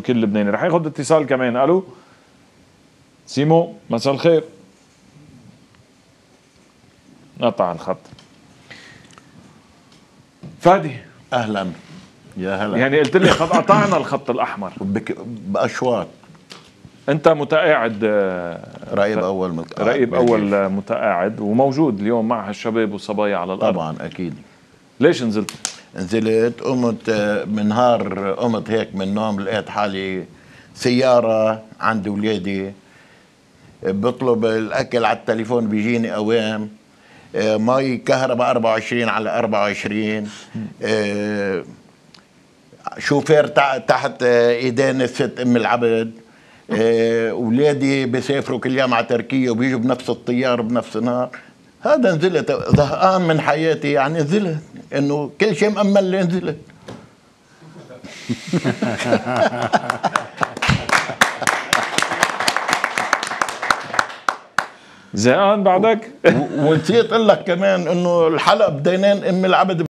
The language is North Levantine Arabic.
كل لبناني. رح ياخد اتصال كمان. الو سيمو، مساء الخير. قطع الخط. فادي اهلا يا هلا. يعني قلت لي قد قطعنا الخط الاحمر باشواط. انت متقاعد رائب اول متقاعد، رائب اول متقاعد وموجود اليوم مع هالشباب والصبايا على الارض. طبعا اكيد. ليش نزلت؟ قمت من نهار، قمت هيك من النوم لقيت حالي سيارة عند ولادي، بطلب الأكل على التليفون بيجيني أوام، مي كهرباء 24 على 24، شوفير تحت إيدين الست أم العبد، ولادي بيسافروا كل يوم على تركيا وبيجوا بنفس الطيار بنفس النهار. هذا نزلت زهقان من حياتي، يعني نزلت انه كل شيء مأمن لي نزلت. زهقان بعدك؟ ونسيت اقول لك كمان انه الحلقة بدينان ام العبد